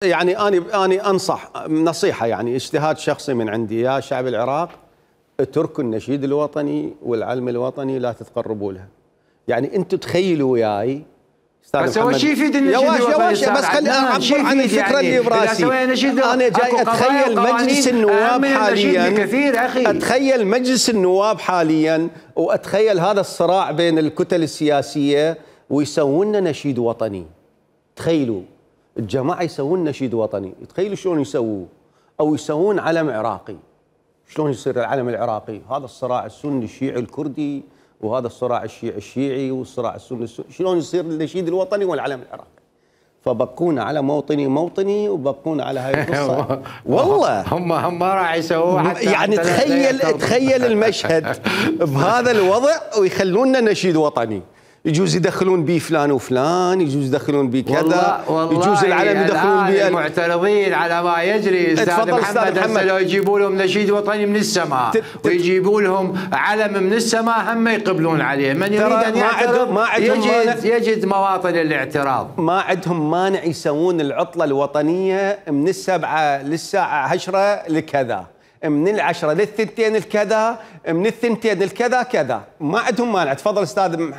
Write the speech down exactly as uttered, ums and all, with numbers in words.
يعني أنا أنا أنصح نصيحة يعني اجتهاد شخصي من عندي يا شعب العراق، اتركوا النشيد الوطني والعلم الوطني لا تتقربوا لها. يعني أنتم تخيلوا وياي بس هو شو يفيد النشيد الوطني؟ بس خليني أعبر عن الفكرة اللي براسي. أنا جاي أتخيل مجلس النواب حاليا كثير أخي. أتخيل مجلس النواب حاليا وأتخيل هذا الصراع بين الكتل السياسية ويسوون لنا نشيد وطني. تخيلوا الجماعة يسوون نشيد وطني، تخيلوا شلون يسووه، أو يسوون علم عراقي. شلون يصير العلم العراقي؟ هذا الصراع السني الشيعي الكردي، وهذا الصراع الشيعي الشيعي والصراع السني السني، شلون يصير النشيد الوطني والعلم العراقي؟ فبقونا على موطني موطني وبقونا على هاي القصة. والله هم هم ما راح يسووها حتى يعني تخيل تخيل المشهد بهذا الوضع ويخلونا نشيد وطني. يجوز يدخلون بيه فلان وفلان، يجوز يدخلون بيه كذا، يجوز العلم يدخلون بيه. المعترضين على ما يجري استاذ محمد هسه لو يجيبوا لهم نشيد وطني من السماء ويجيبوا لهم علم من السماء هم يقبلون عليه، من يريد ان يعترض ما يجد يجد مواطن الاعتراض. ما عندهم مانع يسوون العطلة الوطنية من السبعة للساعة عشرة لكذا، من العشرة للثنتين الكذا، من الثنتين الكذا كذا، ما عندهم مانع. تفضل استاذ.